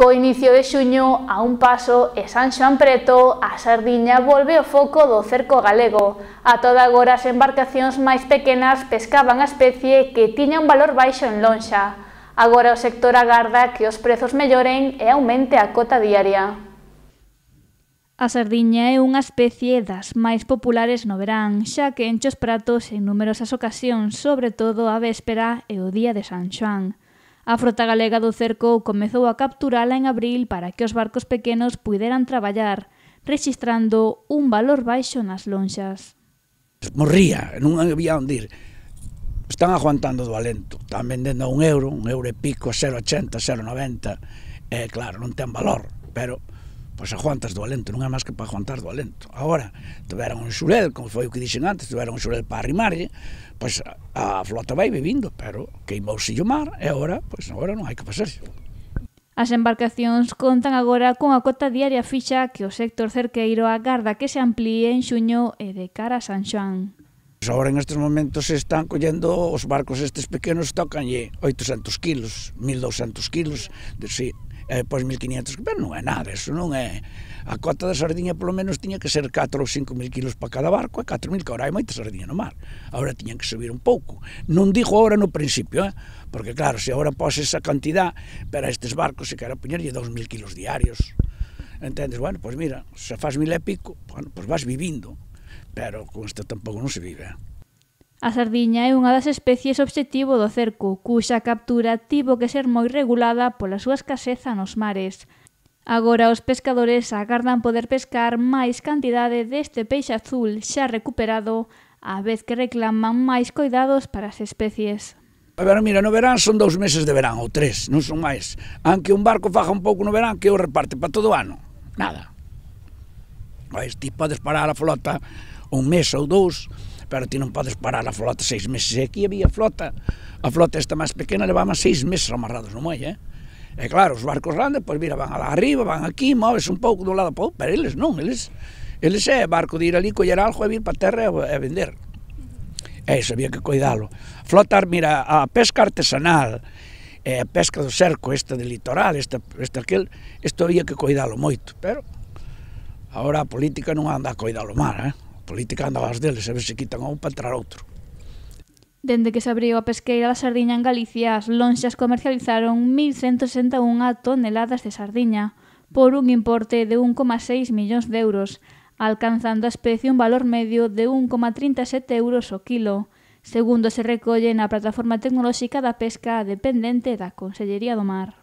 Co inicio de xuño, a un paso e San Xoán preto, a sardiña volve ao foco do cerco galego. A toda agora as embarcacións máis pequenas pescaban a especie que tiña un valor baixo en lonxa. Agora o sector agarda que os prezos melloren e aumente a cota diaria. A sardiña é unha especie das máis populares no verán, xa que enche os pratos en numerosas ocasións, sobre todo a véspera e o día de San Xoán. A frota galega do cerco comezou a capturala en abril para que os barcos pequenos puideran traballar, rexistrando un valor baixo nas lonxas. Morría, non había onde ir. Están aguantando do alento, están vendendo a €1, €1 e pico, a 0,80, 0,90, e claro, non ten valor, pero pois aguantas do alento, non é máis que para aguantar do alento. Agora, tiveron un xurel, como foi o que dixen antes, tiveron un xurel para arrimarlle, pois a flota vai vivindo, pero queimouse o mar, e agora, pois agora non hai que pasarse. As embarcacións contan agora con a cota diaria fixa que o sector cerqueiro agarda que se amplíe en xuño e de cara a San Xoán. Agora en estes momentos se están collendo os barcos estes pequenos, tocanlle 800 kilos, 1200 kilos, sí, pois 1500, pero non é nada, eso non é. A cota da sardiña polo menos tiña que ser 4 ou 5 mil kilos para cada barco, e 4.000, que agora hai moita sardiña no mar. Agora tiñan que subir un pouco. Non digo agora no principio, porque claro, se agora pose esa cantidad, pero a estes barcos se quero poñerlle 2.000 kilos diarios. Entendes? Bueno, pois mira, se faz 1.000 e pico, bueno, pois vas vivindo, pero con isto tampouco non se vive. A sardiña é unha das especies obxectivo do cerco, cuxa captura tivo que ser moi regulada pola súa escaseza nos mares. Agora os pescadores agardan poder pescar máis cantidade deste peixe azul xa recuperado, á vez que reclaman máis coidados para as especies. A ver, mira, no verán son 2 meses de verán, ou 3, non son máis. Aunque un barco faja un pouco no verán, que o reparte para todo o ano? Nada. Ti podes parar a flota un mes ou 2, pero ti non podes parar a flota 6 meses. E aquí había flota, a flota esta máis pequena levaba 6 meses amarrados no muelle, E claro, os barcos grandes, pois mira, van alá arriba, van aquí, moves un pouco dun lado para outro, pero eles non, eles é barco de ir ali, coller algo e vir para a terra e vender. E iso había que cuidalo. Flotar, mira, a pesca artesanal, a pesca do cerco, esta de litoral, esta aquel, isto había que cuidalo moito, pero agora a política non anda a cuidalo mal, A política anda aos deles, a ver se quitan a un para entrar outro. Dende que se abriu a pesqueira da sardiña en Galicia, as lonxas comercializaron 1.161 toneladas de sardiña, por un importe de 1,6 millóns de euros, alcanzando a especie un valor medio de 1,37 euros o kilo, segundo se recolle na plataforma tecnolóxica da pesca dependente da Consellería do Mar.